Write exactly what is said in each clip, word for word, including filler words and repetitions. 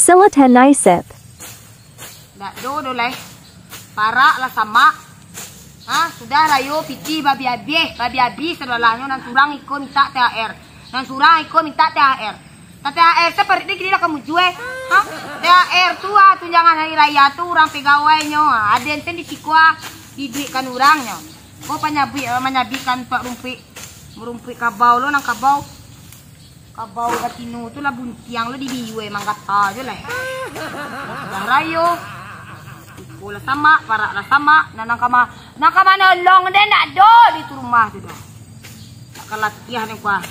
Selotan Isep. Ndak do doh lai. Parak lah samak. Ha, sudah rayo pitih babi abih, babi abih sadolahnyo, nan surang iko mintak T H R. Nan surang iko mintak T H R. Tapi T H R tu parik dek kini lah ka mujua. Ha? T H R tu ah, tunjangan hari raya tu urang pegawainyo. Ah, aden sen di siko ah, diduikkan urangnyo. Ko panyabuik, eh, manyabuikkan tuak rumpuik, rumpuik kabau lo nan kabau. Kabau batino tu lah buntiang lo dibiua manggata jo lah. Sudah rayo. Iko lah samak, parak lah samak. Nah, nang kama, nang kama nolong den ndak do di tu rumah tu doh. Nak ka latiah ni kuah.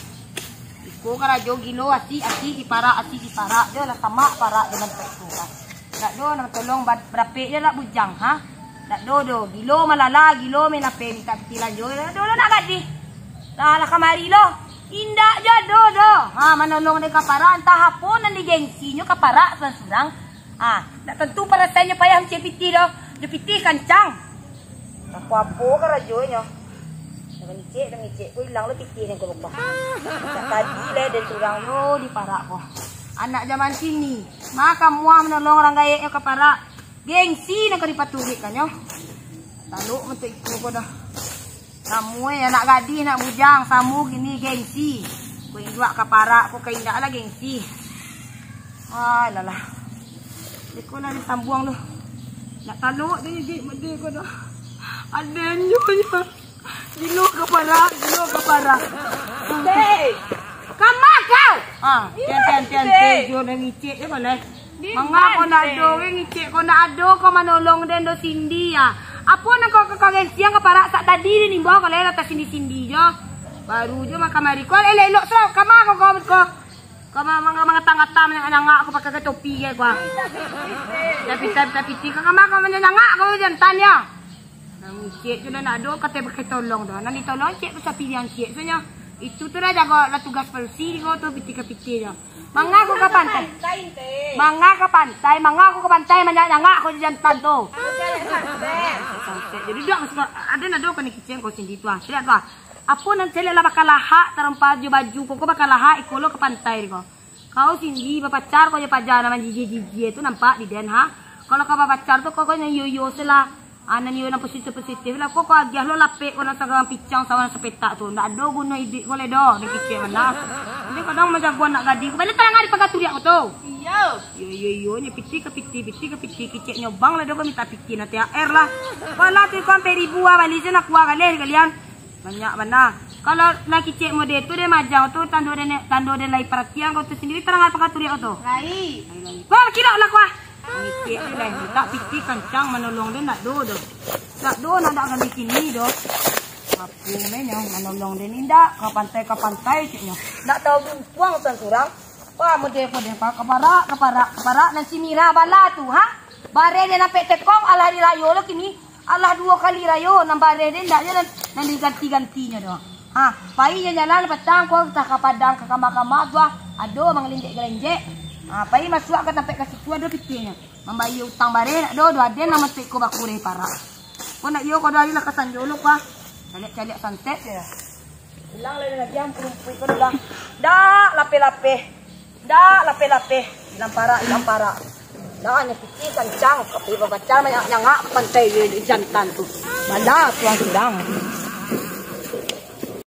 Iko karajo gilo, asik, asik diparak, asik diparak. Jo lah samak parak jo mantek tu kan. Ndak do nan tolong ba-, barapek jo lah bujang, ha? Ndak do do. Gilo malala, gilo main ape mintak pitih lanjo. Ndak do lo nak gadih. Lah, lah kamari lo. Indak jo do do. Ha, manolong dek kaparak, antah apo nan digengsinyo kaparak surang-surang. Ha, ndak tantu parasainnyo payah mancari pitih do. Jo pitih kancang. Apo-apo karajonyo. Dah mangicek, dah mangicek, ko ilang lo pitih nan ko lubah. Sejak tadi lai den surang yo diparak ko. Anak jaman kini, ma ka muah manolong urang gaeknyo kaparak. Gengsi nan ka dipaturuikkannyo. Talok mantun iko ko dah. Samo eh, anak gadih, anak bujang, samo kini gengsi. Ko induak kaparak, ko ka indak lah gengsi. Alah lah. Iko lah disambuang tu. Nak talok tu je, mede ko dah. Aden nyo nyo. Gilo kaparak, gilo kaparak. Hei! Kama kau? Ah, tian, tian, tian, Hei! Tian, jo dah ngicek je boleh. Manga ko ndak ado, weh, ngicek ko ndak ado, ko manolong den do Cindy, ah. Apo nan ko, ko, ko gengsian kaparak sak tadi di nimbau ko lai latak Cindy-Cindy jo. Baru jo makan mari ko, elok-elok so, kama ko, ko, ko. Ko ma-, manga-, mangatang-ngatang, manyangak-nyangak ko pakai topi je ko. Tapi, tapi, tapi, tapi, ko kama ko manyangak ko jantan yo. Nan ngicek tu dah ndak ado, kato pakai tolong dah. Nan ditolong cek tu sapi yang cek tu nyo. Itu tu dah jago lah tugas polisi ko tu, pitih ka pitih nyo. Manga ko ka pantai. Manga ka pantai, manga ko ka pantai, manyangak-nyangak ko jantan tu. Santet. Jadi dak suka, ado ndak ado kena kicen ko Cindy tu ah. Caliak tu ah. Apo nan caliak lah bakalahak, tarompa jo baju ko, ko bakalahak, iko lo ka pantai ko. Kau Cindy bapacar ko jo paja nan manjijia-jijia tu nampak di den ha. Kalau kau bapacar tu ko, ko nan iyo-iyo se lah. Ah, nan iyo nan positif-positif lah. Ko, ko agiah lo lapek ko nan sagang picang sawan sapetak tu. Ndak ado guno iduik ko lai doh, nan kicek mah. Nanti kadang majago anak gadih ko. Baliak tarang ari paga turiak ko tu. Iyo. Iyo, iyo, iyo, nyo pitih ka pitih, pitih ka pitih, kicek nyo bang lah doh ko minta pitih nan T H R lah. Walah tu ko ampek ribu ah, bali se nak kuah galeh kalian. Banyak bana. Kalau lah kicek mode tu deh majang tu tando deh, tando deh lai paratian ko tu sandiri tarang ari paga turiak ko tu. Lai. Ko kiro lah kuah. Ngicek tu lai, mintak pitih kancang manolong den ndak do doh. Ndak do, ndak ado kami kini doh. Apo menyo manolong den indak, ka pantai, ka pantai ceknyo. Ndak tau bumpuang surang-surang. Wah, mode-mode pa, kaparak, kaparak, kaparak, nan si Mira bala tu, ha? Bareh den ampek tekong, alah hari rayo lo kini. Alah duo kali rayo, nan bareh den ndak jo nan, nan diganti-gantinyo doh. Ha, pai jalan-jalan patang ko, antah ka Padang, ka kama-kama tu ah, ado mangalinjek-galinjek. Ha, pai masuak ka tampek ka situ ado pitihnyo. Mambayia utang bareh ndak do, do aden nan mantek ko bakureh parak. Ko ndak iyo ko do ari lah ka sanjo lo ko ah. Caliak-caliak santet je. Ilang lai dengan diam, kurumpuik ko lah. Dak lapeh-lapeh. Dak lapeh-lapeh. Ilang parak, ilang parak. Dak, nyo pitih kancang, tapi bapacar manyangak-nyangak pantai je jantan tu. Bala tuan surang.